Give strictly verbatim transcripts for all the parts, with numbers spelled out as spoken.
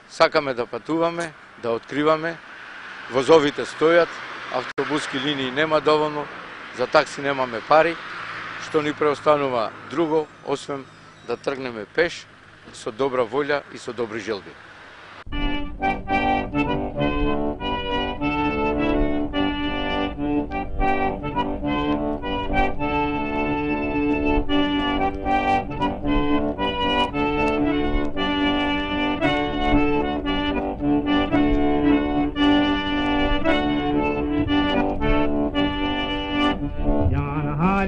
Сакаме да патуваме, да откриваме, возовите стојат, автобуски линии нема доволно, за такси немаме пари, што ни преостанува друго, освен да тргнеме пеш, со добра волја и со добри желби.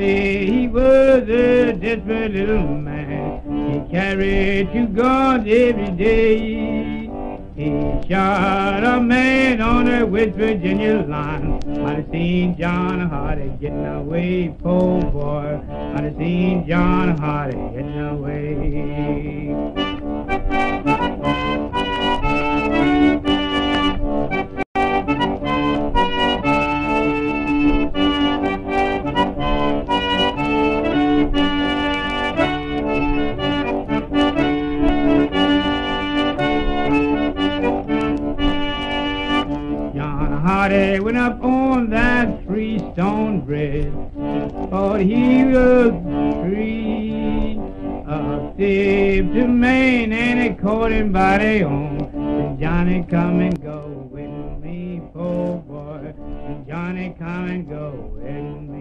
He was a desperate little man. He carried two guns every day. He shot a man on the West Virginia line. I'd have seen John Hardy getting away, poor boy. I'd have seen John Hardy getting away. Hardy went up on that three-stone bridge, thought he was free. A thief to Maine, and they caught him by the arm. Said, Johnny, come and go with me, poor boy. Said, Johnny, come and go with me.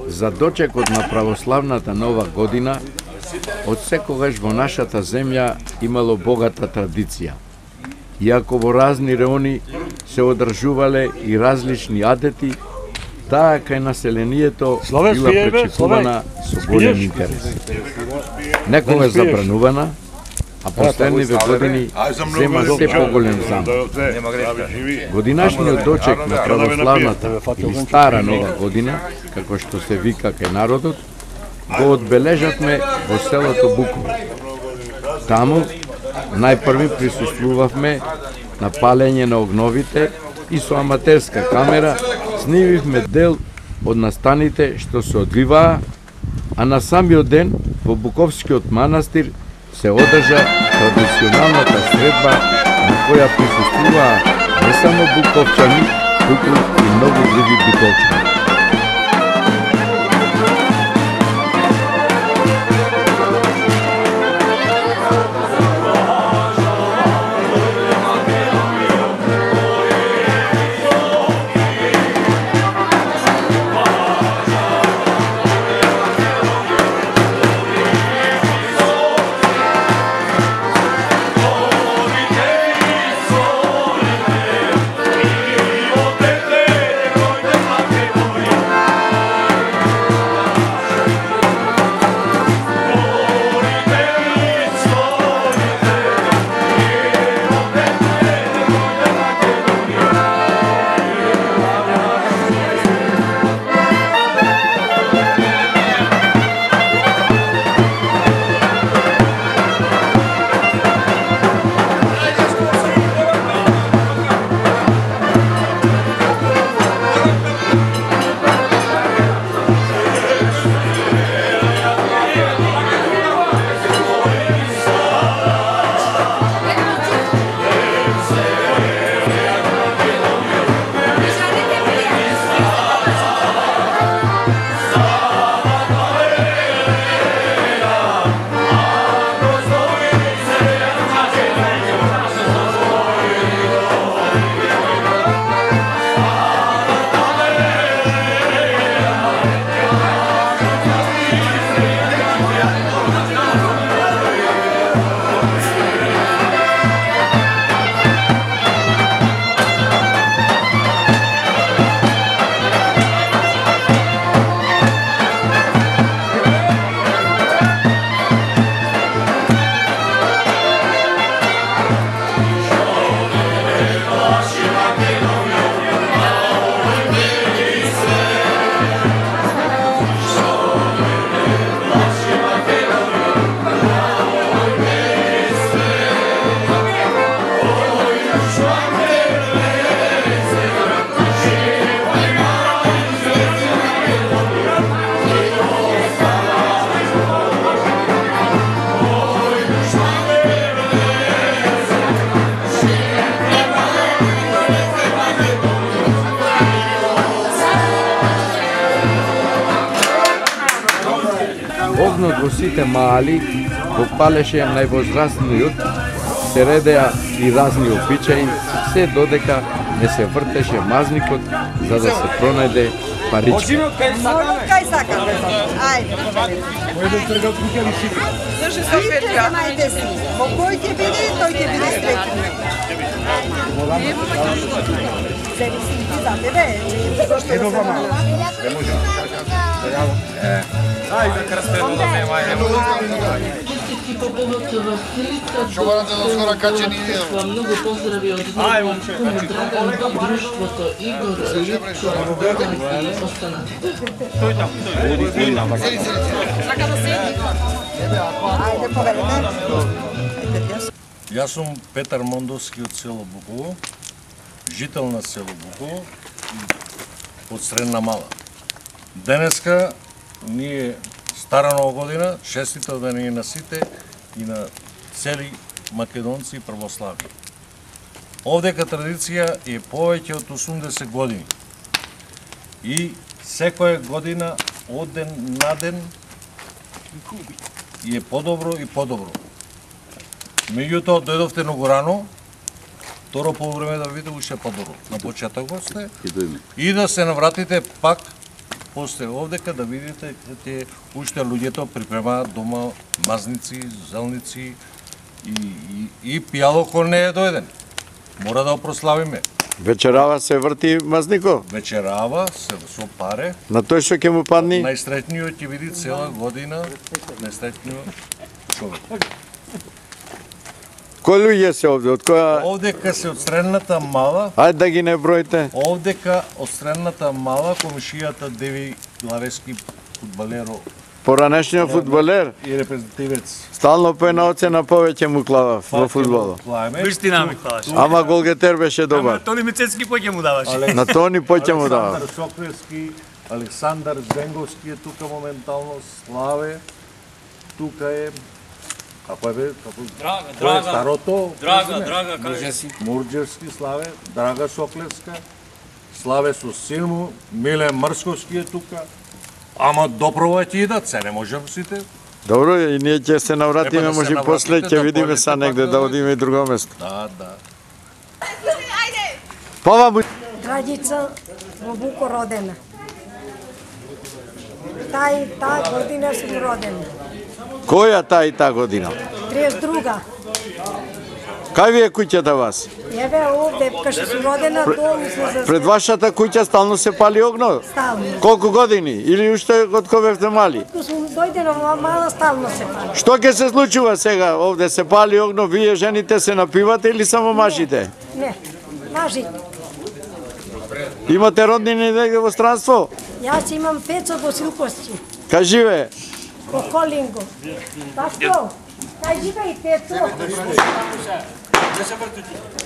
За дочекот на православната нова година, од секогаш во нашата земја имало богата традиција. Иако во разни реони се одржувале и различни адети, таа кај населението била пречекувана со голем интерес. Некогаш забранувана, а последниве години зема се поголем замах. Годинашниот дочек на православната или стара нова година, како што се вика кај народот, го одбележавме во селото Буково. Таму најпрви присуствувавме на палење на огновите и со аматерска камера снимивме дел од настаните што се одвиваа, а на самиот ден во Буковскиот манастир се одржа традиционалната средба на која присуствуваа не само буковчани, туку и многу други битолчани. Огнот во сите маали го палеше највозрастниот, се редеа и разни обичаи, се додека не се вртеше мазникот за да се пронајде паричка. Кај сакате? Ајде. Сите знаете си. Во кој ќе биде, тој ќе биде среќен. Зависи и за тебе. Едно вама. Не може. Ајде, крстено да ме маје. Што морате да скоро качени идеја? Многу поздрави од Драган од друштвото Игор Литко и останатите. Тој там, тој. Тој там. Сака да седи. Ајде, поверете. Јас сум Петар Мондовски од село Буково, жител на село Буково, од Средна Мала. Денеска ние стара нова година, шестите ден и на сите и на цели македонци и православи. Овдека традиција е повеќе од осумдесет години. И секоја година од ден на ден е подобро и подобро. Меѓутоа дојдовте многу рано, второ полувреме да видите уште подобро. На почетокот сте и да се навратите пак после овдека да видите те уште луѓето припремаат дома мазници, зелници и, и, и пијалокол не е доеден. Мора да прославиме. Вечерава се врти Мазнико? Вечерава се со паре. На тој што ќе му падни? Најстречниот ќе види цела година, најстречниот човек. Кои луѓе се овде? Од која? Овдека се од Средната Мала. Ајде да ги не броите. Овдека од Средната Мала комшијата Деви Главески фудбалеро. Поранешниот фудбалер И репрезентативец. стално по една оцена повеќе му клава во фудбалот. Вистина ми клаваш. Ама голгетер беше добар. Ама Тони Мицецки поќе му даваш. На Тони поќе му дава. Александар Сокрески, Александар Зенговски е тука моментално, Славе, тука е, како е бе, како... Драга, Кој е драга. старото? Драга, драга, кажи. Мурџевски, Славе, Драга Соклевска, Славе со син му, Милен Мрсковски е тука. Ама допро ќе идат, се не можем сите. Добро, и ние ќе се навратиме, Треба да се може навратите, после ќе да видиме појдете са негде пак да да- одиме и друго место. Да, да. Пова Драѓица во Буко родена. Тај та година сум родена. која та и та година? тридесет друга. Кај ви е куќата вас? Еве овде, кај што сум родена, дом се за Пред вашата куќа стално се пали огно? стално. Колку години? Или уште од кога бевте мали? Кога сум дојдена во мала, стално се пали. Што ќе се случува сега? Овде се пали огно, вие жените се напивате или само мажите? Не, мажите. Имате роднини негде во странство? Јас имам Пецо во Силкости, Кај живее? во Колинго. Пашко, кај живе и Пецо?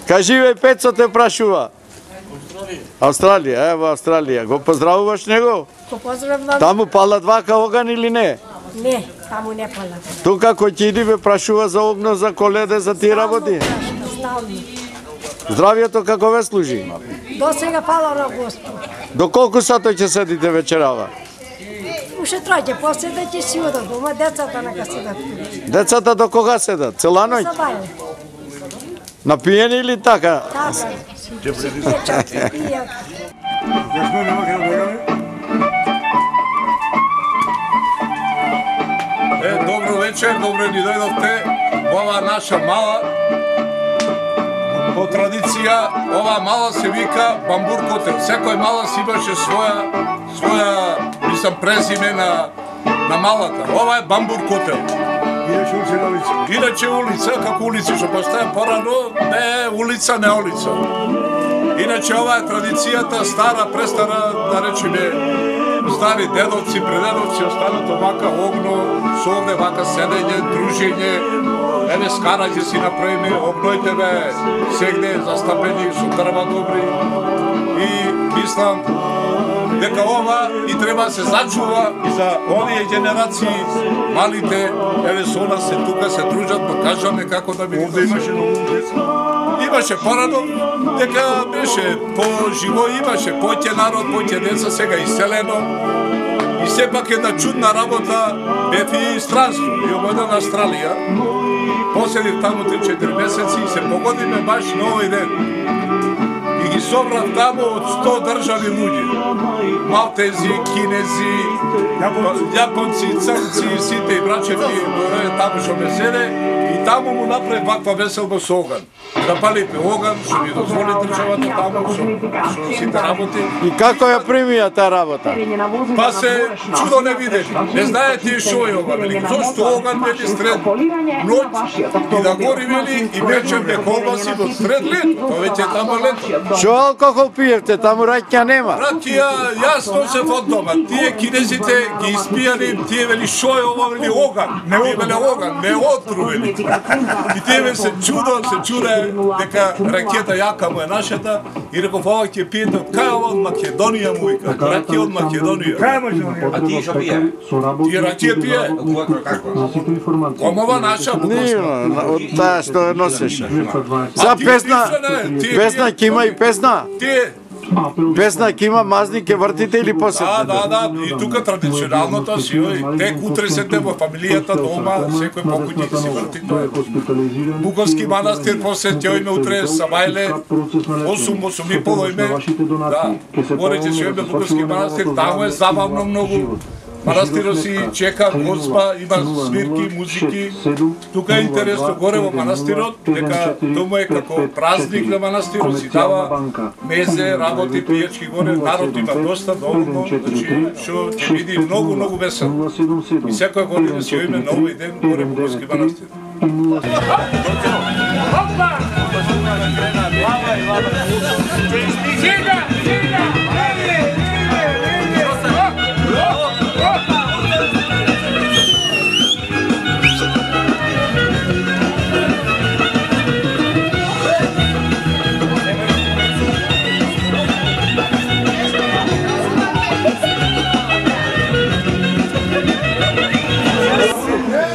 Кај живее Пецо те прашува? Австралија, е во Австралија. Го поздравуваш него? Го поздравам. Таму палат вака оган или не? Не, таму не пала. Тука кој ќе иди ве прашува за огно, за коледе, за тие работи? Стално. Здравието како ве служи? До сега пала на Господ. До колку сато ќе седите вечерава? Уште тројке, после да ќе си одат дома, децата нека седат тука. Децата до кога седат? Цела ноќ? Забавно. Напиени или така? Така, си пијат, чак си пијат. Е, добро вечер, добро ни дојдовте во ова наша мала. По традиција, ова мала се вика Бамбур котел. Секој мала си имаше своја, своја, мислам, презиме на, на малата. Ова е Бамбур котел. Иначе улица на улица. Иначе улица, како улици што постоја порано, не е улица, не улица. Иначе ова е традицијата, стара, престара, да речеме, стари дедовци, предедовци, останато вака огно, со овде вака седење, дружење, еве скараѓе си направиме, огнојте бе, сегде застапени со дрва добри и мислам дека ова и треба се зачува и за овие генерации, малите, еве со нас се тука се дружат, па кажаме како да биде. Овде имаше многу деца. Имаше порано, дека беше по-живо, имаше поќе народ, поќе деца, сега иселено. И сепак една чудна работа, бев и странство, и обојден на Австралија. Поседив таму три-четири месеци и се погодиме баш на овој ден. И ги собрав таму од сто држави луѓе. Малтези, кинези, јапонци, црнци, сите и брачеви, таму што ме седе. И таму му направи ваква веселба со оган. Да палиме оган, што ни дозволи државата таму, со, со сите работи. И како ја примија таа работа? Па се чудо не видели. Не знаете што е оган. Вели, зошто оган вели сред ноќ и да гори вели и вечерне колбаси во сред лето. Тоа веќе е таму лето. Што алкохол пиевте? Таму раќа нема. Ракија, јас носев од дома. Тие кинезите ги испијани, тие вели што е ова, вели оган. Не вели оган, не отру вели. И тие се чудо, се чуде дека ракета јака му е нашата и реков ова ќе пиете од кај ова од Македонија му вика. Ракија од Македонија. А ти што пие? Тие ракија пие. Комова наша. Не, од таа што носеше. За песна, песна ќе има и песна. Тие Песна ќе има мазник, ќе вртите или Да, посетите? да, да, и тука традиционалното си, ој, тек утре сете во фамилијата дома, секој покујник си врти тоа. Буковски манастир посети ојме утре Савајле, осум, осум и пол ојме, да, гореќе си ојме Буковски манастир, таму е забавно многу. Манастирот си чека гозба, има свирки, музики. Тука е интересно горе во манастирот, дека тоа е како празник на манастирот, си дава мезе, работи, пијачки горе, народ има доста доволно, значи што ќе биде многу, многу весело. И секоја година си ојме нови ден горе во Буковски манастир.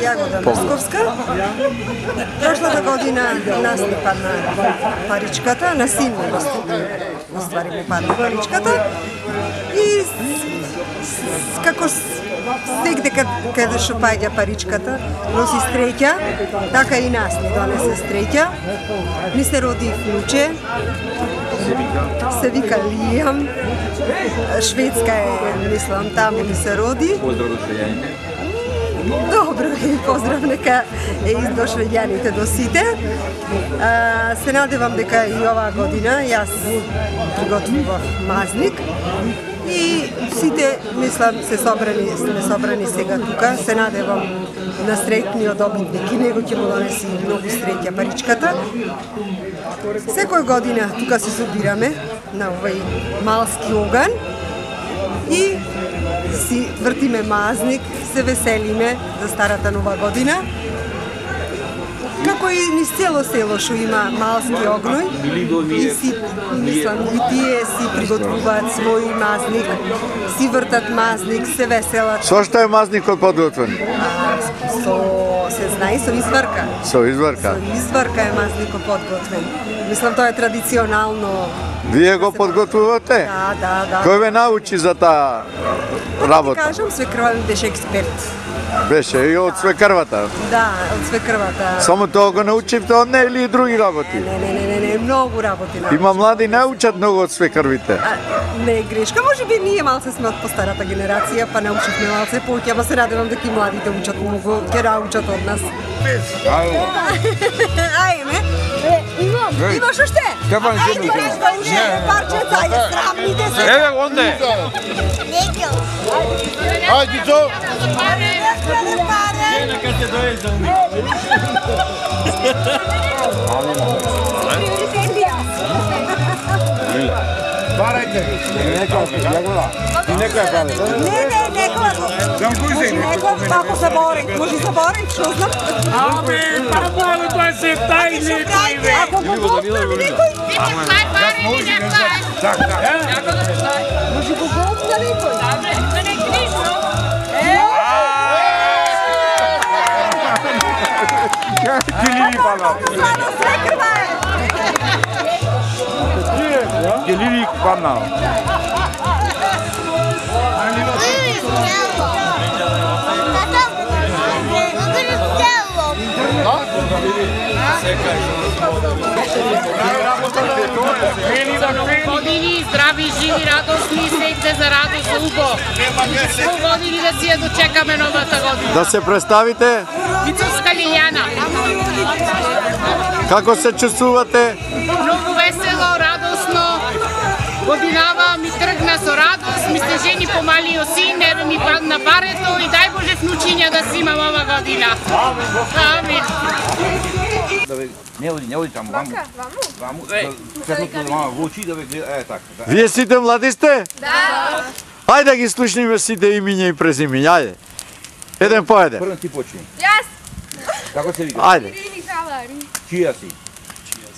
Јагода Московска. Прошлата година нас не падна паричката, на син ми во ствари ми падна паричката. И како сегде каде што паѓа паричката, носи стреќа, така и нас ни донесе стреќа. Ми се роди внуче, се вика Лијам, шведска е, мислам, таму ми се роди. Поздрав до швеѓаните. Добро, и поздрав нека е и до швеѓаните до сите. А, се надевам дека и оваа година јас приготвував мазник и сите, мислам, се собрани, сме собрани сега тука. Се надевам на среќниот добитник и него ќе му донеси многу среќа паричката. Секој година тука се собираме на овој малски оган и си вртиме мазник, се веселиме за старата нова година. Како и низ цело село што има малски огној, и си, мислам, и тие си приготвуваат свој мазник, си вртат мазник, се веселат. Со што е мазникот подготвен? А, со, се знае, со изварка. Со изварка? Со изварка е мазникот подготвен. Мислам, тоа е традиционално. Вие го подготвувате? Да, да, да. Кој ве научи за таа работа? Да кажам, свекрва ми беше експерт. Беше и од свекрвата? Да, од свекрвата. Само тоа го научивте од неја или и други работи? Не, не, не, не, не, многу работи научи. Има млади не учат многу од свекрвите. А, не е грешка, може би ние малце сме од постарата генерација, па научивме малце повеќе, ама се радевам дека и младите учат многу, ќе научат од нас. Ајме. Иво, Иво што ште? Стефан Ајде, нешто уште, парчеца, ајде, срамните се. Еве, онде. Ајде, Dzo! Нека се дојде. Барајте. И нека ја праве. Не, не, некоја го. Некоја, како се бори, може се бори, што знам. Абе, па мало тоа се тај некој, бе. Ако го готвам некој, може го готвам некој. Гелили пана. Гелили пана. Години, здрави, живи, радосни, секте за радост, убо. Сто години да си ја дочекаме новата година. Да се представите? Мицовска Лилјана. Како се чувствувате? Многу весело, радосно. Годинава ми тргна со радост, ми се жени помалио син, еве ми падна барето и дај Боже внучиња да си имам ова година. Амин. Не оди, не оди таму, ваму. Ваму. Светлото да мама во очи да ве гледа, е така. Вие сите млади сте? Да. Ајде да ги слушниме сите имиња и презимиња, ајде. Еден по еден. Прво ти почни. Јас. Како се вика? Ајде. Ирини Халари. Чија си?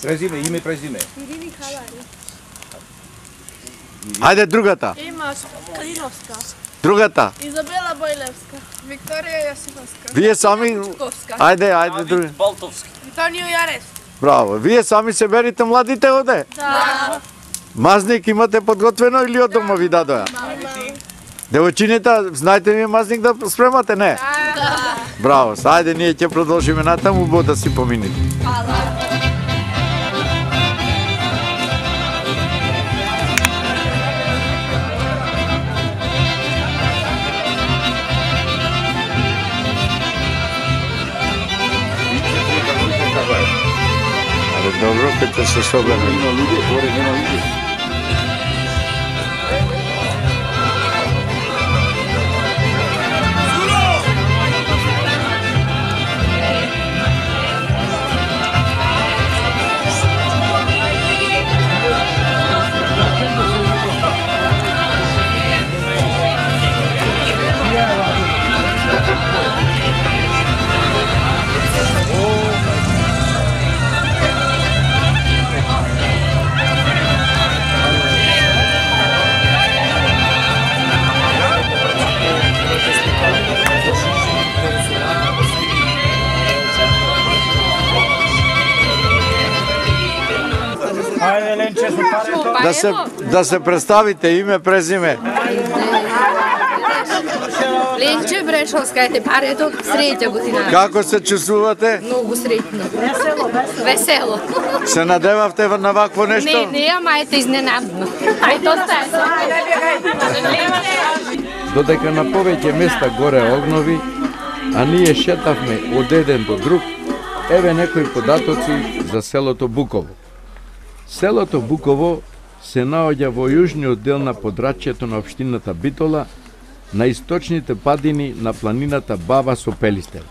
Презиме, име и презиме. Ирини Халари. Ајде другата. Имаш Калиновска. Другата. Изабела Бојлевска. Викторија Јосифовска. Вие сами... Ајде, ајде други. Балтовски. Антонио Јарес. Браво. Вие сами се берите младите оде? Да. Мазник имате подготвено или од дома ви дадоа? Девојчините, знаете ли мазник да спремате, не? Да. Браво, ајде ние ќе продолжиме натаму, бо да си помините. Добро, кај се собеме. Да се да се представите име, презиме. Ленче Брешовска е парето, среќа година. Како се чувствувате? Многу среќно. Весело, весело. Се надевавте на вакво нешто? Не, не, ама ете изненадно. Ај тоа е. Додека на повеќе места горе огнови, а ние шетавме од еден до друг, еве некои податоци за селото Буково. Селото Буково се наоѓа во јужниот дел на подрачјето на општината Битола, на источните падини на планината Баба со Пелистер.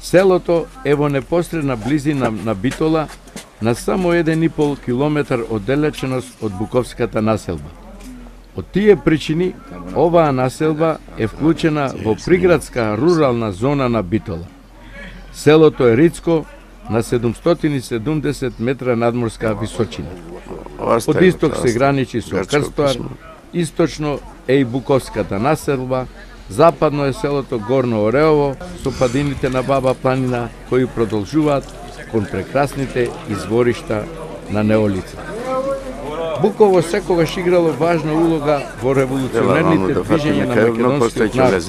Селото е во непосредна близина на Битола, на само еден и пол километар оддалеченост од Буковската населба. Од тие причини, оваа населба е вклучена во приградска рурална зона на Битола. Селото е рицко, на седумстотини и седумдесет метра надморска височина. Од исток се граничи со Крстоар, источно е и Буковската населба, западно е селото Горно Ореово со падините на Баба планина кои продолжуваат кон прекрасните изворишта на Неолица. Буково секогаш играло важна улога во револуционерните движења на македонскиот народ.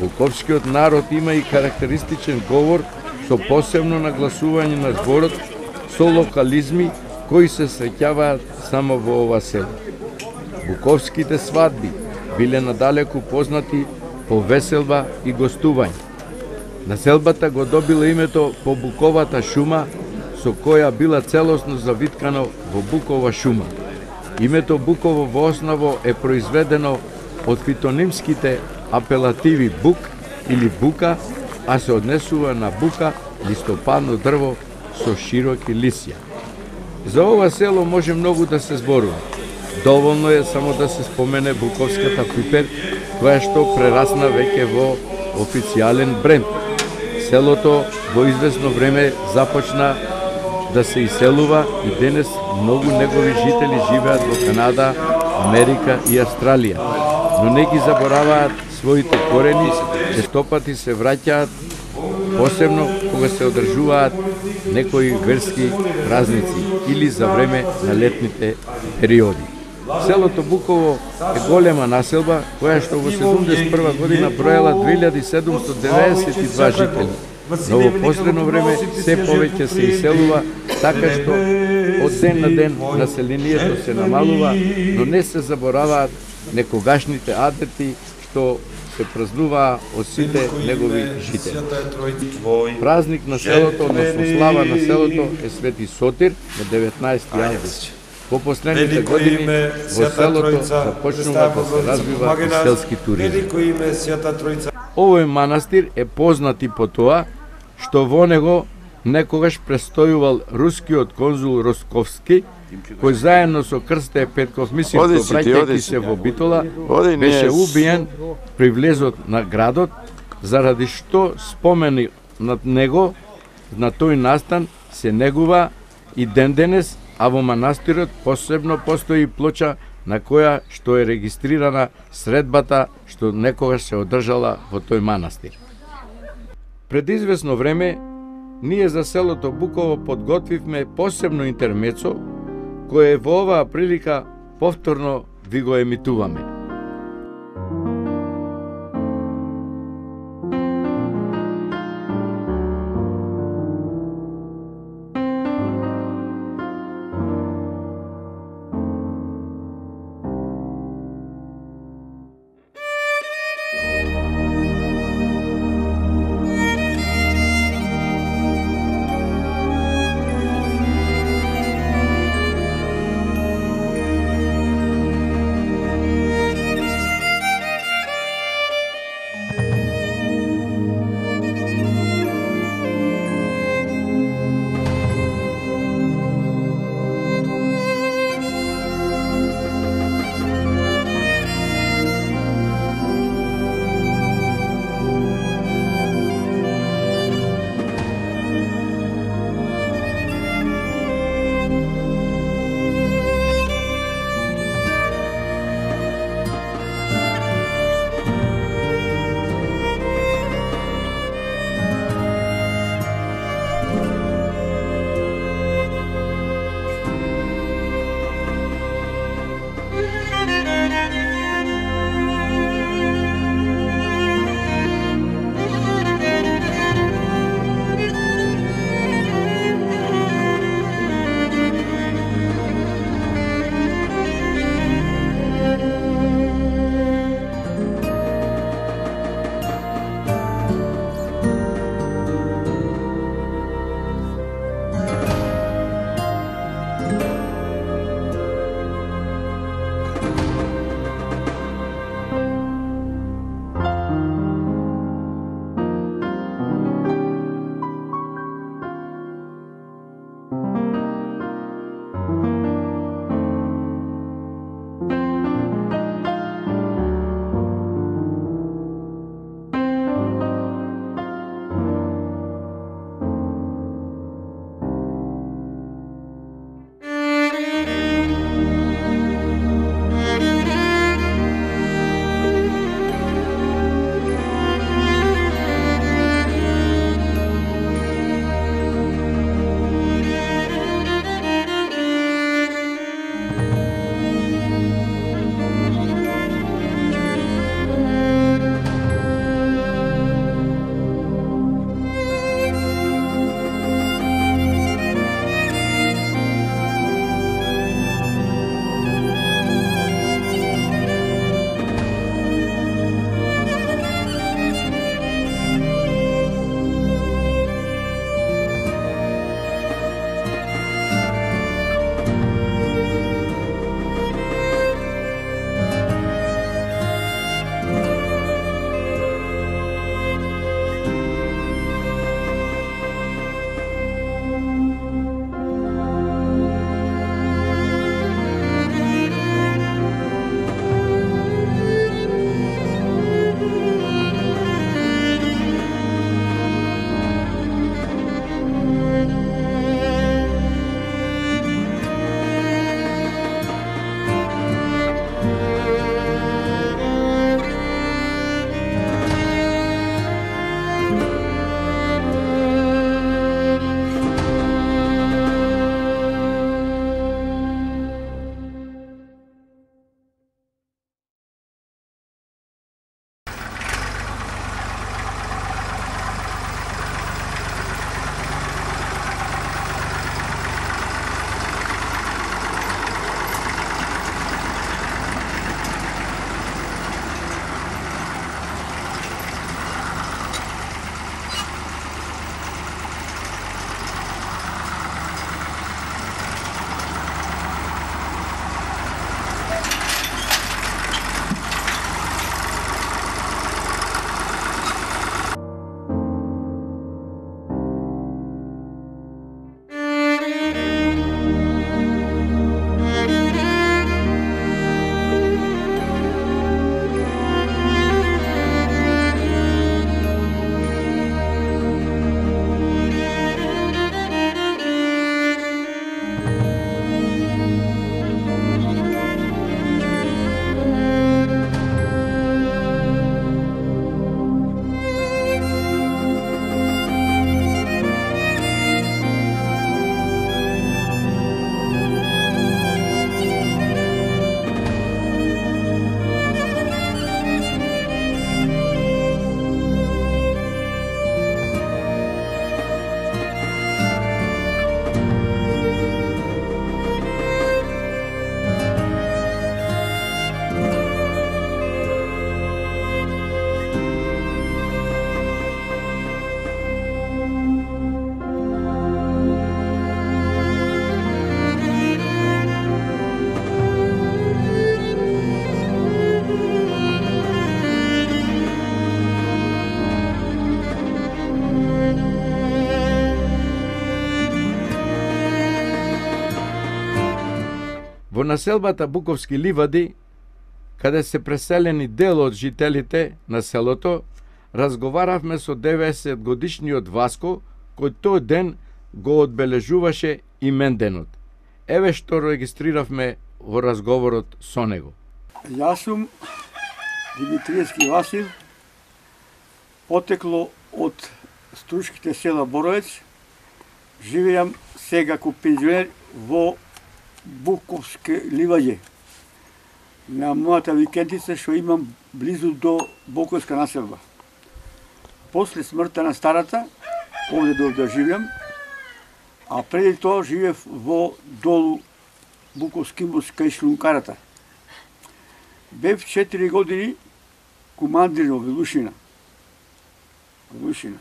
Буковскиот народ има и карактеристичен говор со посебно нагласување на зборот со локализми кои се среќаваат само во ова село. Буковските свадби биле надалеку познати по веселба и гостување. Населбата го добила името по буковата шума, со која била целосно завиткано во букова шума. Името Буково во осново е произведено од фитонимските апелативи бук или бука, а се однесува на бука, листопадно дрво со широки лисја. За ова село може многу да се зборува. Доволно е само да се спомене Буковската пипер, која што прерасна веќе во официјален бренд. Селото во известно време започна да се иселува и денес многу негови жители живеат во Канада, Америка и Австралија, но не ги забораваат своите корени, честопати се враќаат, посебно кога се одржуваат некои верски празници или за време на летните периоди. Селото Буково е голема населба, која што во седумдесет и прва година броела две илјади седумстотини деветдесет и два жители. Но во последно време се повеќе се иселува, така што од ден на ден населението се намалува, но не се забораваат некогашните адети што се празнуваа од сите негови жители. Празник на селото, односно слава на селото е Свети Сотир на деветнаесети август. По последните години во селото започнува да се развива и селски туризм. Овој манастир е познат и по тоа што во него некогаш престојувал рускиот конзул Росковски, кој заедно со Крсте Петков Мисивко, враќајќи се во Битола, беше убиен при влезот на градот, заради што спомени над него на тој настан се негува и ден денес, а во манастирот посебно постои плоча на која што е регистрирана средбата што некогаш се одржала во тој манастир. Пред известно време, ние за селото Буково подготвивме посебно интермецо, кое во оваа прилика повторно ви го емитуваме. Во населбата Буковски ливади, каде се преселени дел од жителите на селото, разговаравме со деветдесет годишниот Васко, кој тој ден го одбележуваше именденот. Еве што регистриравме во разговорот со него. Јас сум Димитриевски Васил, потекло од стручките села Боровец, живеам сега ко пензионер во Буковске ливаѓе. На мојата викендица што имам близу до Буковска населба. После смртта на старата, овде до да живеам, а преди тоа живеев во долу Буковски мост кај Шлункарата. Бев четири години командир во Велушина. Велушина.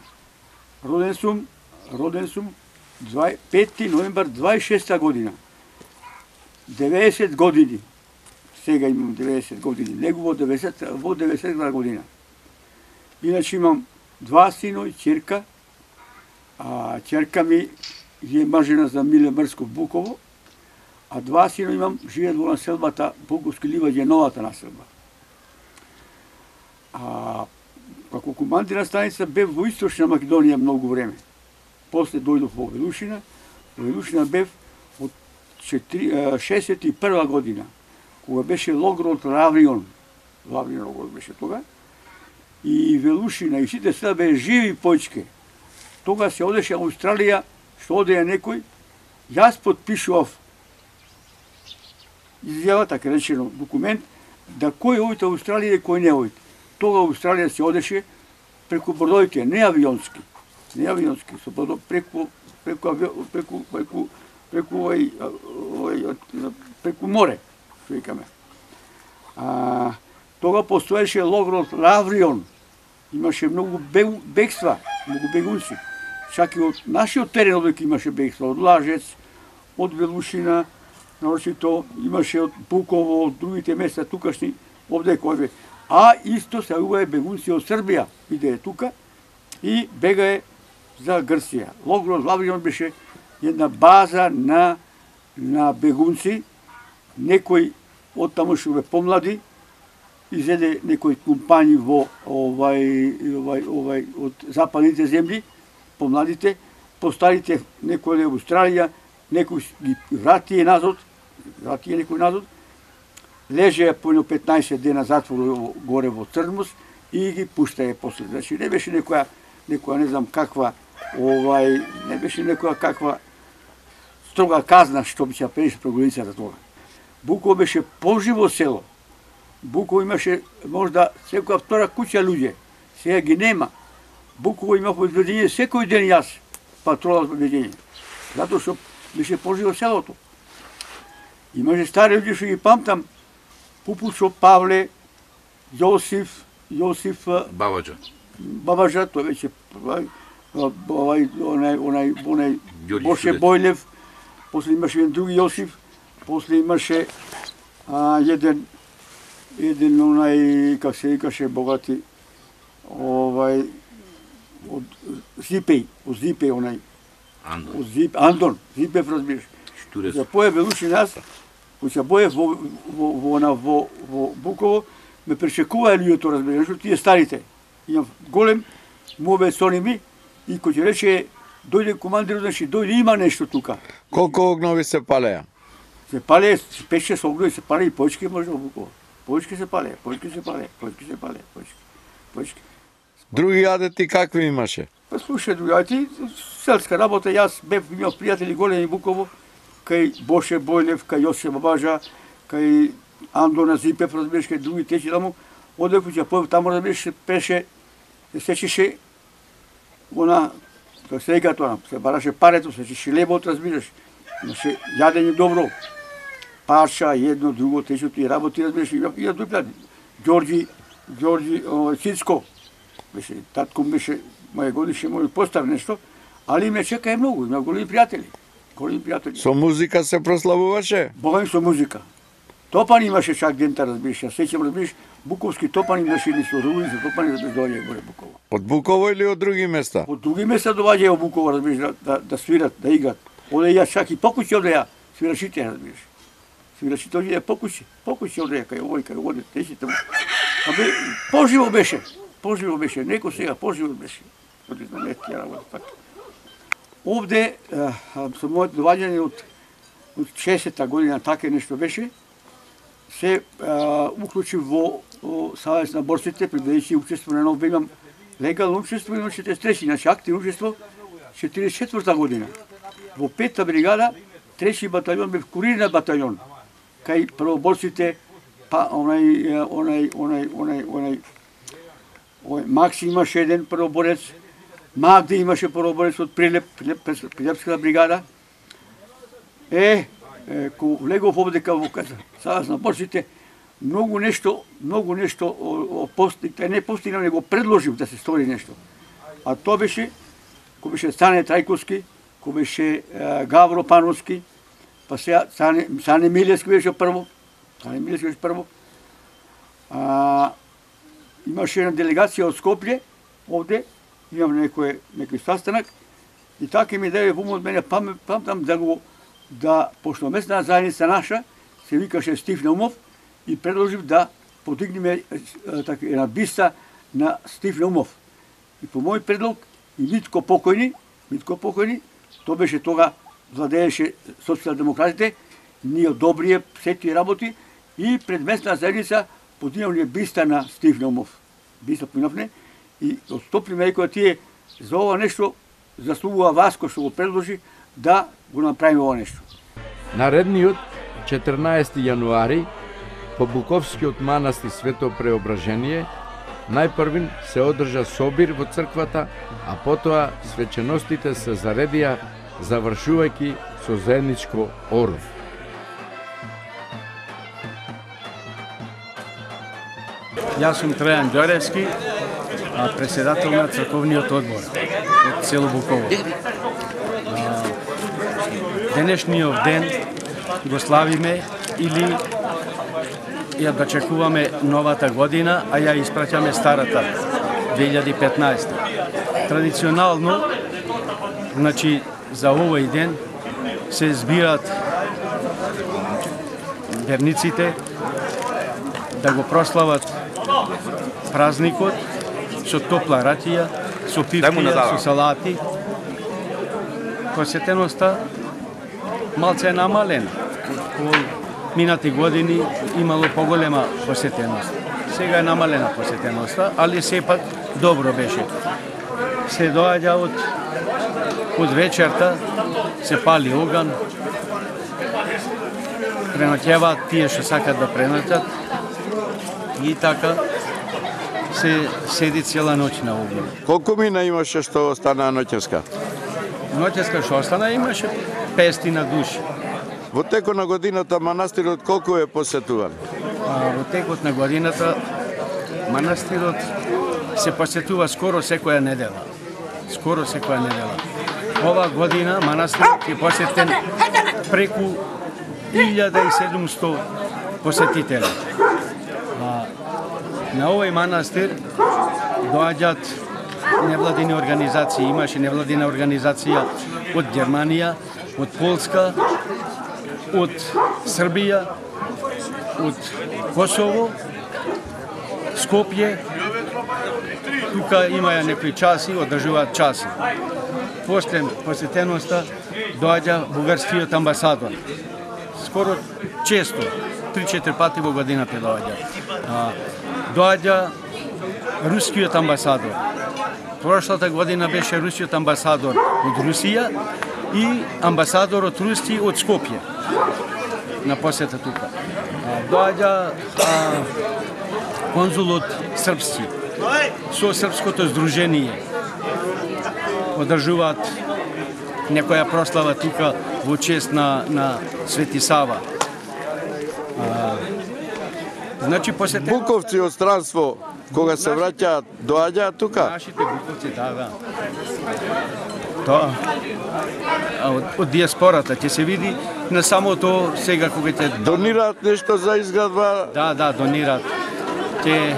Роден сум, роден сум пети ноембар дваесет и шеста година. деветдесет години. Сега имам деветдесет години. Него во деветдесет во деветдесета година. Иначе имам два сино и ќерка. А ќерка ми е мажена за Миле Мрсков Буково, а два сино имам живеат во населбата Буковски ливаѓе, новата населба. А како командир на станица бев во Источна Македонија многу време. После дојдов во Велушина. Во Велушина бев од шесет и прва година, кога беше логорот Лаврион. Лаврион логорот беше тога. И Велушина и сите села бе живи појчке. Тога се одеше Австралија, што одеја некој, јас подпишував изјава, така речено, документ, да кој ојте Австралија и кој не ојте. Тога Австралија се одеше преку бродовите, не авионски, не авионски, со бродо, преку преку преку преку преку овој овој преку море, што викаме. А тога постоеше логорот Лаврион. Имаше многу бегства, многу бегунци. Чак и од нашиот терен одека имаше бегства, од Лажец, од Велушина, наочито имаше од Буково, од другите места тукашни, овде кој бе. А исто се јавуваа бегунци од Србија, иде тука и бегае за Грција. Логорот Лаврион беше една база на на бегунци, некој од тамошните помлади изеде некои компањи во овај овај овај од западните земји, помладите, постарите некој од Австралија, некој ги врати назад, врати некој назад, лежеа по петнаесет дена затвор горе во Црнмус и ги пуштае после. Значи не беше некоја некоја не знам каква овај не беше некоја каква строга казна што би се преше по границата тога. Буково беше поживо село. Буково имаше можда секоја втора куќа луѓе. Сега ги нема. Буково има обезбедение секој ден јас патрола за обезбедение. Затоа што беше поживо селото. Имаше стари луѓе што ги памтам, Пупушо, Павле, Јосиф, Јосиф Бабаџа. Бабаџа, тој веќе овај онај онај онај Боше Бојлев, после имаше еден други Јосиф, после имаше а, еден еден онај как се викаше богати овај од Зипеј, од Зипеј онај Андон. Од Зип Андон, Зипев разбираш. За поја Велуши нас, кој се боев во во во на во во Буково, ме пречекуваа луѓето разбираш, што тие старите. Имам голем мове со ними и кој ќе рече дојде командир, значи дојде има нешто тука. Колку огнови се палеа? Се пале пет-шест огнови, се пале и појчки може во Буково. Појчки се пале, појчки се пале, појчки се пале, појчки. Појчки. Други адети какви имаше? Па слушај, други адети, селска работа, јас бев имал пријатели големи Буково, кај Боше Бојлев, кај Јосиф Бабаџа, кај Андона Зипев, разбираш, кај други течи таму, оде кога ќе појав таму, разбираш, пеше, се сечеше она, тоа сега тоа, се бараше парето, се сечеше лебот, разбираш, имаше јадење добро, парша, едно, друго, тече тие работи, разбираш, и да дуплат. Ѓорѓи, Ѓорѓи Цицко, беше, татко беше, моје годише, мој постави нешто, али ме чека е многу, има големи пријатели. Големи пријатели. Со музика се прославуваше? Богам со музика. Топани имаше чак дента, разбираш, ја сеќам, разбираш, буковски топани имаше и со рули, со топани да доаѓаја горе Буково. Од Буково или од други места? Од други места доаѓаја во Буково, разбираш, да, да, да свират, да играт. Оде ја чак и покуќи оде ја, свирашите, разбираш. Свирачи тој е покуши, покуши од река, овој кај оде, тешите му. Абе, поживо беше, поживо беше, неко сега поживо беше. Оди на нет ја работа така. Овде со моето доваѓање од од шесета година така нешто беше, се уклучи во Савез на борците, прибедејќи учество на нов имам легално учество, имам четиридесет и трети, значи активно учество, четиридесет и четврта година. Во пета бригада, трети батальон бев курирна батальон. Кај првоборците, па онај, онај, онај, онај, онај, онај, Макси имаше еден првоборец, Магди имаше првоборец од Прилеп, Прилепската бригада. Е, е ко влегов овдека во Савез на борците, многу нешто, многу нешто постигнав, не постигнав, него предложив да се стори нешто. А тоа беше, кој беше Стане Трајковски, кој беше Гавро Пановски, па сега Сане, Сане Милевски беше прво, Сане Милевски беше прво. А, имаше една делегација од Скопје, овде, имам некој, некој sastanak, и така ми даде вум од мене, памтам да го, да, пошто местна заедница наша, се викаше Стив Наумов, и предложив да подигнеме така, една биста на Стив Наумов. И по мој предлог, и Митко покојни, Митко покојни, тоа беше тога, владееше социјалдемократите, ние одобрие сети работи и пред местна заедница подигнавме биста на Стив Наумов. Биста подигнавме и отстопниме која тие за ова нешто заслугува Васко што го предложи да го направиме ова нешто. Наредниот четрнаесети јануари по Буковскиот манастир Свето Преображение најпрвин се одржа собир во црквата, а потоа свеченостите се заредија завршувајќи со заедничко оров. Јас сум Трајан Ѓоревски, председател на црковниот одбор од село Буково. Денешниот ден го славиме или ја дочекуваме новата година, а ја испраќаме старата, две илјади и петнаесета. Традиционално, значи, за овој ден се збират верниците да го прослават празникот со топла ракија, со пивкија, со салати. Посетеноста малце е намалена. Минати години имало поголема посетеност. Сега е намалена посетеноста, али сепак добро беше. Се доаѓа од, од вечерта, се пали оган, преноќеваат тие што сакат да преноќат и така се седи цела ноќ на оган. Колку мина имаше што остана ноќеска? Ноќеска што остана имаше петстотина души. Во текот на годината манастирот колку е посетуван? А, во текот на годината манастирот се посетува скоро секоја недела. Скоро секоја недела. Ова година манастирот е посетен преку илјада и седумсто посетители. А, на овој манастир доаѓаат невладини организации. Имаше невладина организација од Германија, од Полска, од Србија, од Косово, Скопје. Тука имаја некои часи, одржуваат часи. После посетеноста доаѓа бугарскиот амбасадор. Скоро често, три-четири пати во годината доаѓа. Доаѓа рускиот амбасадор. Прошлата година беше рускиот амбасадор од Русија и амбасадор од Руси од Скопје на посета тука. Доаѓа конзулот српски со српското здружение. Одржуваат некоја прослава тука во чест на, на Свети Сава. А, значи посетен... Буковци од странство, кога се враќаат, доаѓаат тука? Нашите буковци, да, да. Тоа. Од, од диаспората ќе се види на самото сега кога ќе... Донираат нешто за изградба? Да, да, донираат. Ќе...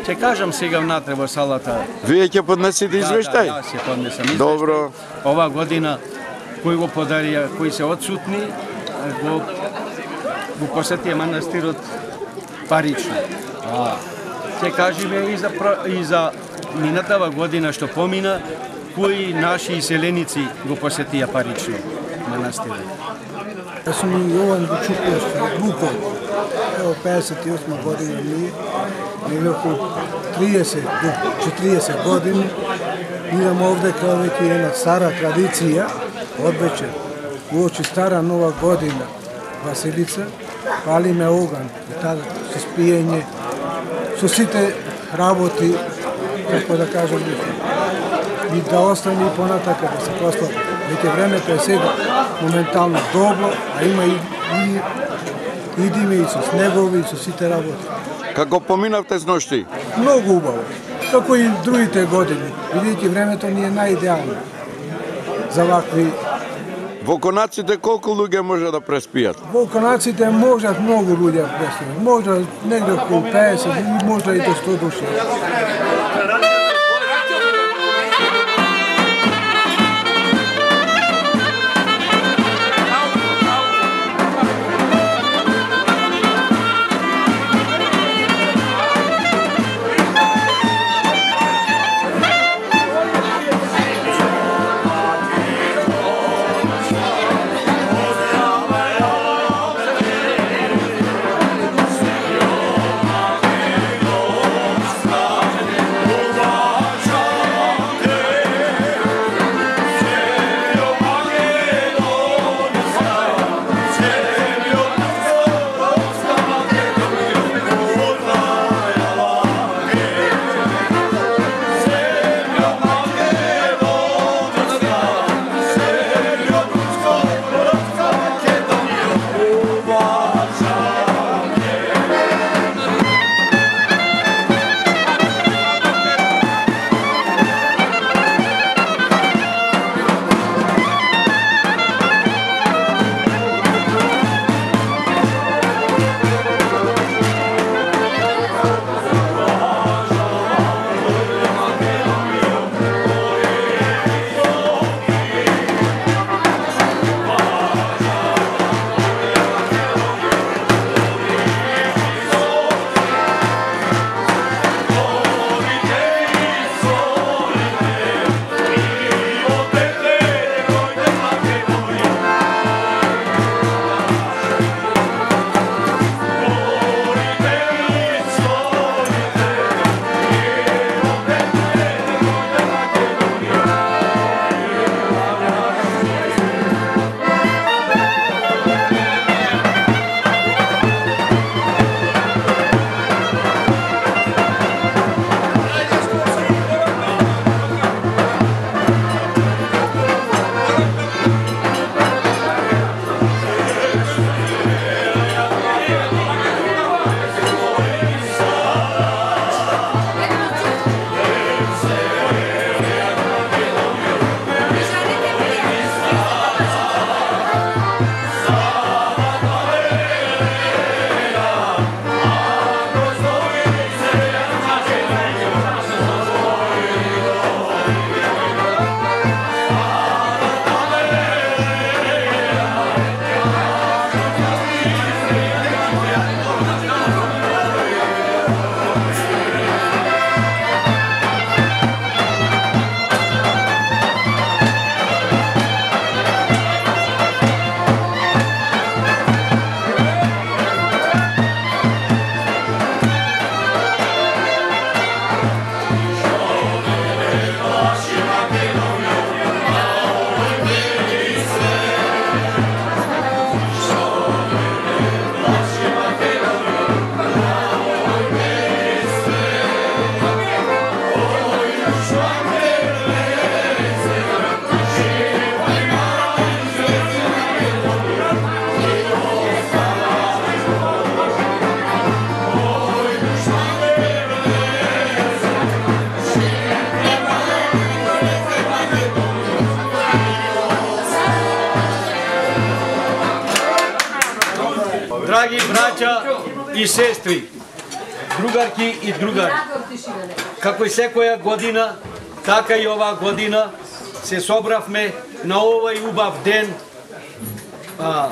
Ќе кажам сега внатре во салата. Вие ќе поднесете извештај? Да, да, ќе поднесам извештај. Добро. Ова година кои го подарија, кои се одсутни, го го посетија манастирот парично. А, се кажеме и за, и за минатава година што помина, кои наши иселеници го посетија парично манастирот. Јас сум Јован Бучукович, Луков. Ево пеесет и осма година ми, негде околу триесет до четириесет години. Идам овде као веќе една стара традиција, одвечер, уочи стара нова година, Василица, палиме оган, и тада со спиење, со сите работи, како да кажам, и да остане и понатака да се прослави. Веќе времето е сега моментално добро, а има и, и идиме и со снегови, и со сите работи. Како поминавте с ношти? Многу убаво, како и другите години, бидејќи времето ни е најидеално за вакви. Во конаците колку луѓе може да преспијат? Во конаците можат многу луѓе да преспијат, може негде околу пеесет и може и до сто души. Драги браќа и сестри, другарки и другари, како и секоја година, така и оваа година се собравме на овој убав ден, а,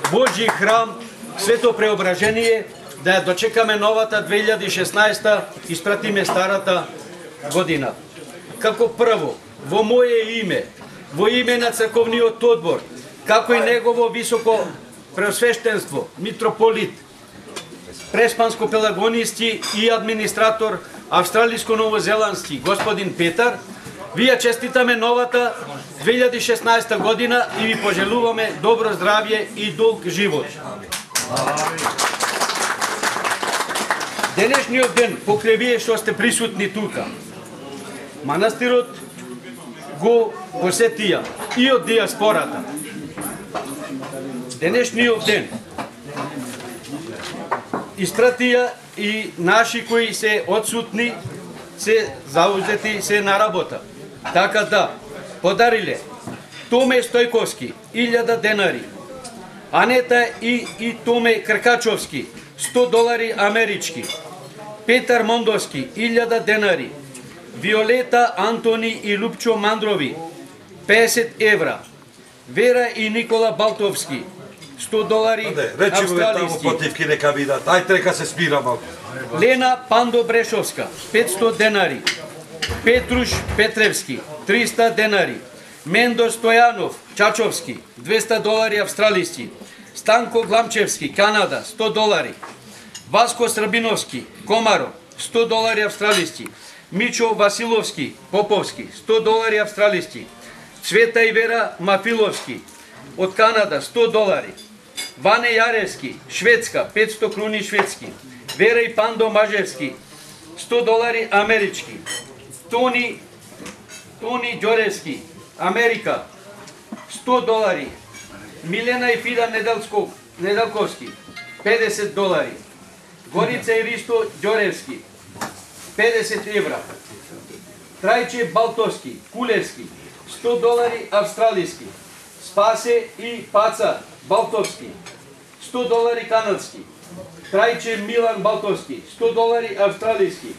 Божји храм, Свето преображение, да ја дочекаме новата две илјади и шеснаесета, испратиме старата година. Како прво, во моje име, во име на црковниот одбор, како и негово високо преосвештенство, митрополит, преспанско-пелагонисти и администратор австралиско-новозеландски господин Петар, ви ја честитаме новата две илјади и шеснаесета година и ви пожелуваме добро здравје и долг живот. Денешниот ден, покрај вие што сте присутни тука, манастирот го посетија и од диаспората. Денешниот ден испратија и наши кои се одсутни, се заузети, се на работа. Така да, подариле Томе Стојковски, илјада денари, Анета и, и Томе Кркачовски, сто долари амерички, Петар Мондовски, илјада денари, Виолета, Антони и Лупчо Мандрови, песет евра, Вера и Никола Балтовски, сто долари австралијски. Потивки нека видат, ајде нека се спира малку. Лена Пандо Брешовска, петсто денари, Петруш Петревски, триста денари, Мендо Стојанов Чачовски, двеста долари австралијски, Станко Гламчевски, Канада, сто долари, Васко Србиновски, Комаро, сто долари австралијски, Мичо Василовски, Поповски, сто долари австралијски, Цвета и Вера Мафиловски, од Канада, сто долари, Ване Јаревски, Шведска, петсто круни шведски, Вера и Пандо Мажевски, сто долари амерички, Тони, Тони Ѓоревски, Америка, сто долари, Милена и Фида Неделсков, Неделковски, педесет долари, Горица и Ристо Ѓоревски, педесет евра, Трајче Балтовски, Кулевски, сто долари австралијски, Спасе и Паца Балтовски, сто долари канадски, Трајче Милан Балтовски, сто долари австралијски,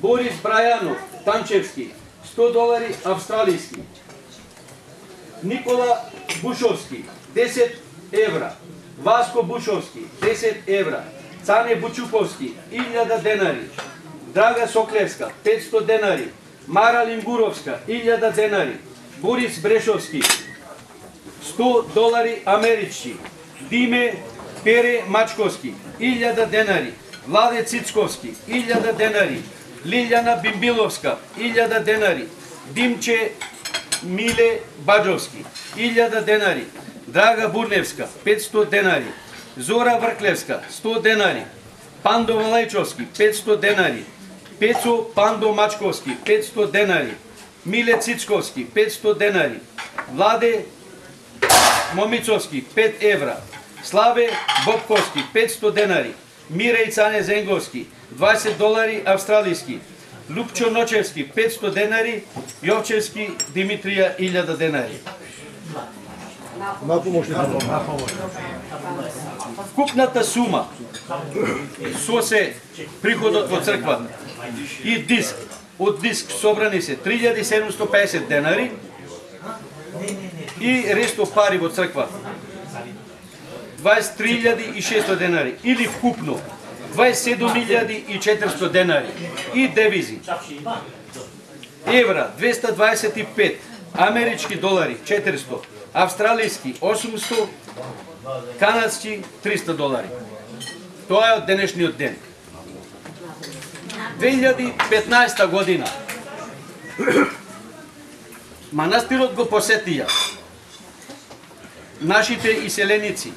Борис Брајанов Танчевски, сто долари австралијски, Никола Бушовски, десет евра, Васко Бушовски, десет евра, Цане Бучуковски, илјада денари, Драга Соклевска, петсто денари, Мара Лингуровска, илјада денари, Борис Брешовски, сто долари амерички, Диме Пере Мачковски, илјада денари, Владе Цицковски, илјада денари, Лилјана Бимбиловска, илјада денари, Димче Миле Баджовски, илјада денари, Драга Бурневска, петсто денари, Зора Врклевска, сто денари, Пандо Малајчовски, петсто денари, Пецо Пандо Мачковски, петсто денари, Миле Цицковски, петсто денари, Владе Момицовски, пет евра, Славе Бобковски, петсто денари, Мире и Цане Зенговски, дваесет долари австралијски, Лупчо Ночевски, петсто денари, Јовчевски Димитрија, илјада денари. Вкупната сума со се приходот во црквата и диск, од диск собрани се три илјади седумсто пеесет денари и ресто пари во црквата дваесет и три илјади и шеста денари или вкупно дваесет и седум илјади и четиристо денари и девизи. Евра двеста дваесет и пет, амерички долари четиристо, австралијски осумсто, канадски триста долари. Тоа е од денешниот ден. две илјади и петнаесета година манастирот го посетија нашите иселеници.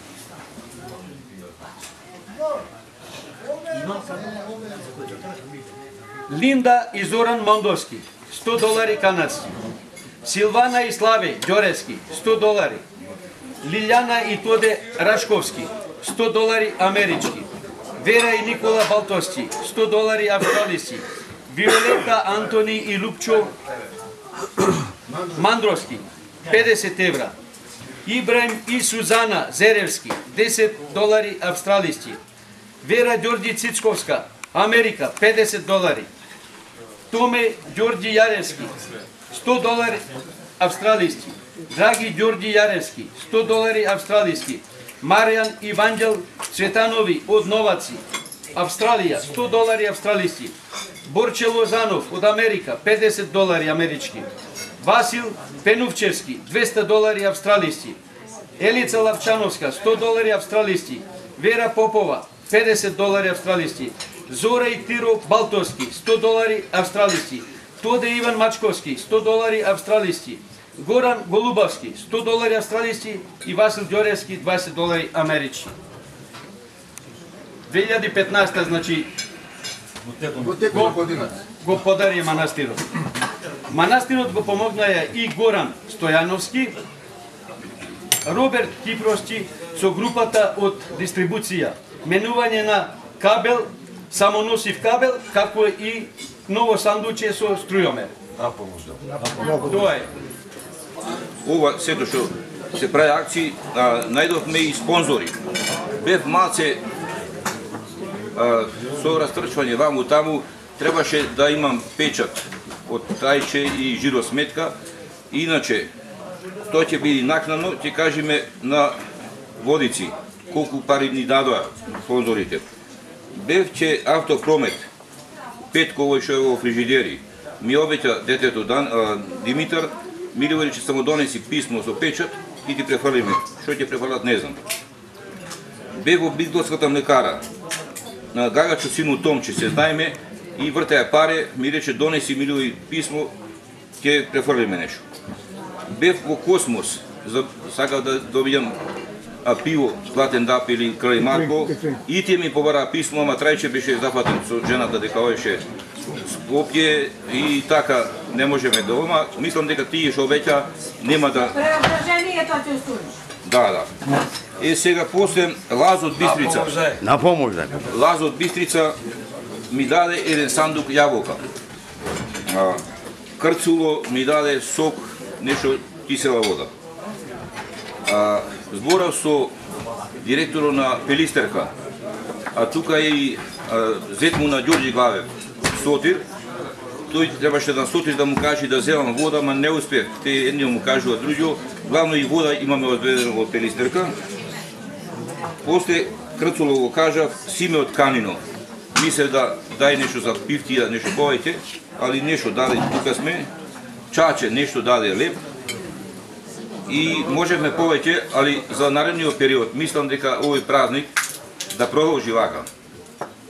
Линда и Зоран Мондовски, сто долари канадски. Силвана и Славе Ѓоревски, сто долари. Лилјана и Тоде Рашковски, сто долари амерички. Вера и Никола Балтовски, сто долари австралијски. Виолета, Антони и Лупчо Мандровски, педесет евра. Ибраим и Сузана Зеревски, десет долари австралијски. Вера Ѓорѓи Цицковска, Америка, педесет долари. Томе Ѓорѓи Јаревски, сто долари австралијски. Драги Ѓорѓи Јаревски, сто долари австралијски. Маријан Иванđел Цветанови од Новаци, Австралија, сто долари австралиски. Борче Лозанов од Америка, педесет долари амерички. Васил Пенувчевски, двеста долари австралиски. Елица Лавчановска, сто долари австралиски. Вера Попова, педесет долари австралиски. Зора и Тиро Балтовски, сто долари австралиски. Тоде Иван Мачковски, сто долари австралиски. Горан Голубовски, сто долари австралиски и Васил Ѓоревски, дваесет долари амерички. две илјади и петнаесета, значи, го, го подари манастирот. Манастирот го помогнаја и Горан Стојановски, Роберт Кипровски со групата од дистрибуција, менување на кабел, самоносив кабел, како и ново сандуче со струјомер. Тоа е. Ова сето што се прави акции, најдовме и спонзори. Бев малце со растрчвање ваму таму, требаше да имам печат од трајче и жиросметка, иначе тоа ќе биде накнано, ќе кажеме на водици колку пари ни дадоа спонзорите. Бев че Автопромет, Петко овој што е во фрижидери, ми обеќа детето Дан, а, Димитар, ми говори че само донеси писмо со печат и ти префрлиме. Што ќе префрлат не знам. Бев во Бигдолската млекара, на Гагачо сину Томче се знаеме и вртеја паре, ми рече донеси милови писмо, ќе префрлиме нешто. Бев во Космос, за сакав да добијам а пиво, Златен Дап или Крај Марко, и тие ми побара писмо, ама трајче беше зафатен со жената дека оеше Скопје и така не можеме да ома. Мислам дека тие што обеќа нема да... Преображението ќе устуниш. Да, да. Е сега после Лазо од Бистрица. На помош, Лазо од Бистрица ми даде еден сандук јаболка. Крцуло ми даде сок, нешто кисела вода. А, зборав со директорот на Пелистерка, а тука е и зет му на Ѓорѓи Главев, Сотир. Тој требаше да Сотир да му каже да земам вода, ма не успев. Те едни му кажува друго, главно и вода имаме одведено од Пелистерка. После Крцуло го кажа Симе од Канино. Мислев да дај нешто за пивтија, нешто повеќе, али нешто даде, тука сме. Чаче нешто даде леп. И можевме повеќе, али за наредниот период мислам дека овој празник да продолжи вака.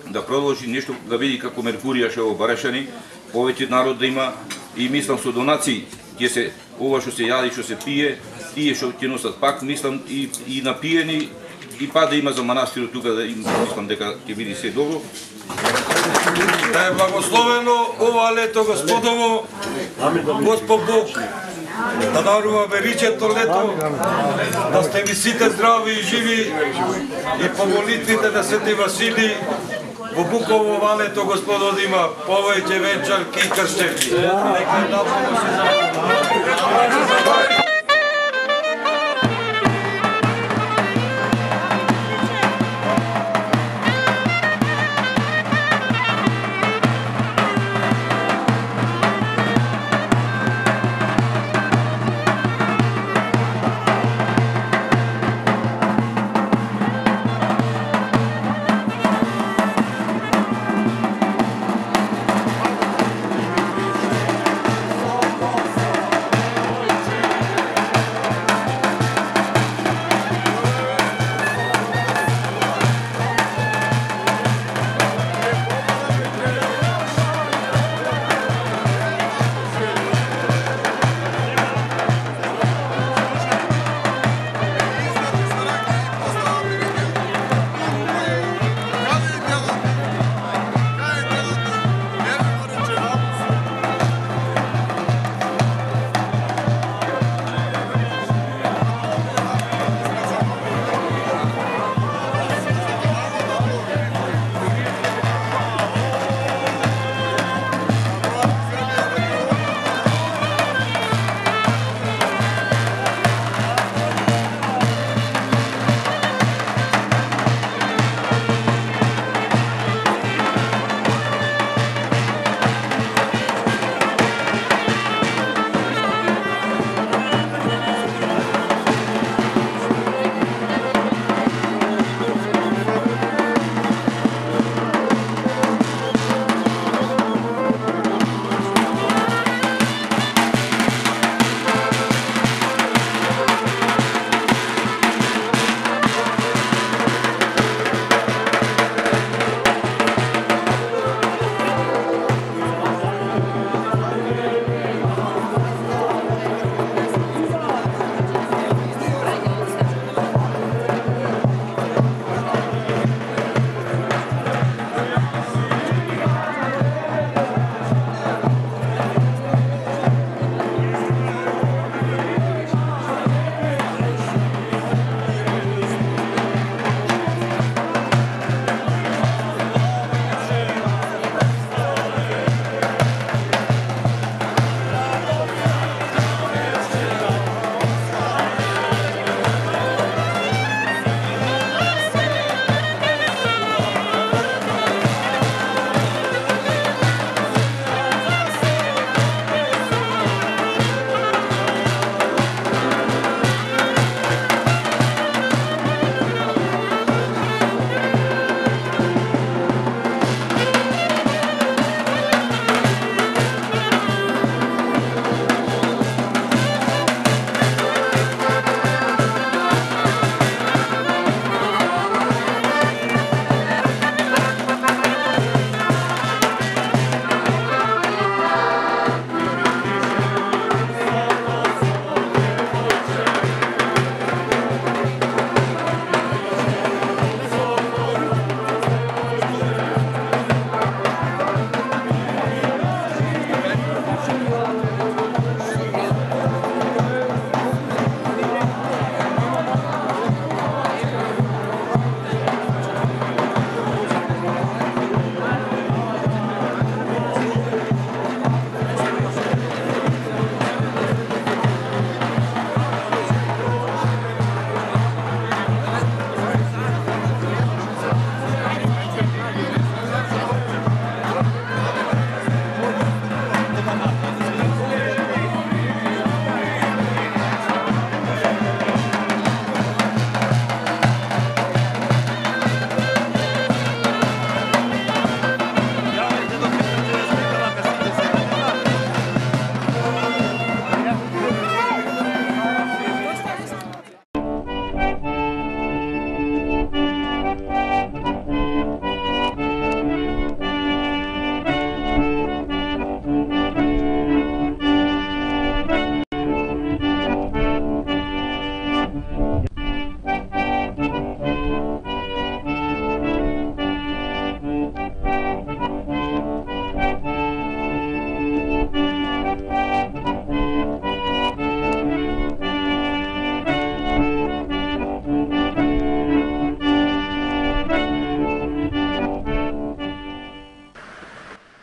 Да продолжи нешто, да види како Меркурија што во Барашани, повеќе народ да има и мислам со донации ќе се ова што се јади, што се пие, тие што ќе носат пак, мислам и и напиени и па да има за манастирот тука да им мислам дека ќе биде се добро. Да е благословено ова лето Господово, Господ Бог, да дарува веричето лето, да сте ви сите здрави и живи и по молитвите на Свети Васили во Буково ова лето Господо да има повеќе венчарки и кршчевки. Нека да помоше за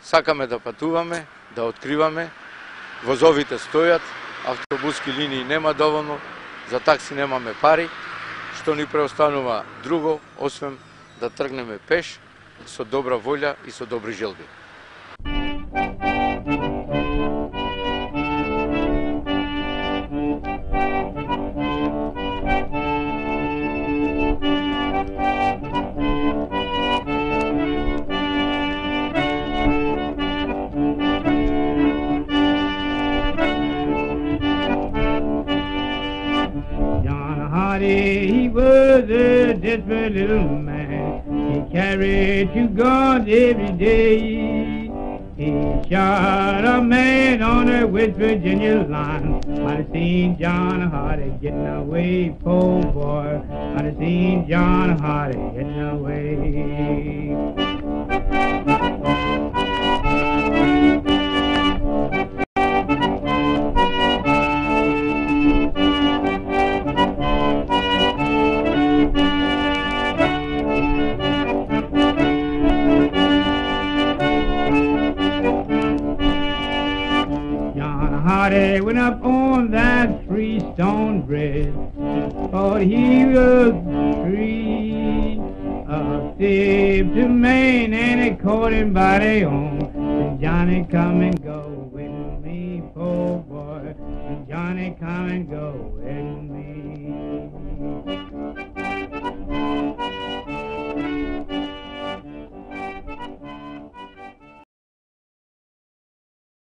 сакаме да патуваме, да откриваме, возовите стојат, автобуски линии нема доволно, за такси немаме пари, што ни преостанува друго, освен да тргнеме пеш, со добра волја и со добри желби. He was a desperate little man. He carried two guns every day. He shot a man on the West Virginia line. I'd have seen John Hardy getting away, poor boy. I'd have seen John Hardy getting away. Hardy went up on that three-stone bridge, thought he was free. A thief to Maine, and it caught him by the arm. Said, Johnny, come and go with me, poor boy. Said, Johnny, come and go with me.